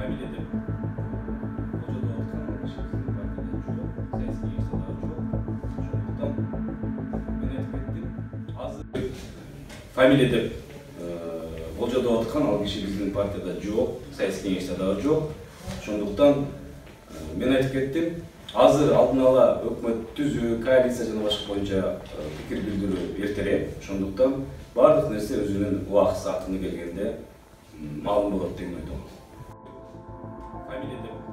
фамилия деп болжодо аткан кишибиздин партияда жок, саясий кеңеште дагы жок. Ошондуктан мен айтып кеттим. Азыр фамилия деп болжодо аткан ал кишибиздин партияда жок, саясий кеңеште дагы жок. Ошондуктан мен айтып кеттим. Азыр алдын ала өкмөт түзүү, коалиция жана башка боюнча пикир билдирүү эртерээк. Ошондуктан бардык нерсе өзүнүн убакыт саатына келгенде маалым болот деген ойдомун. Фамилия деп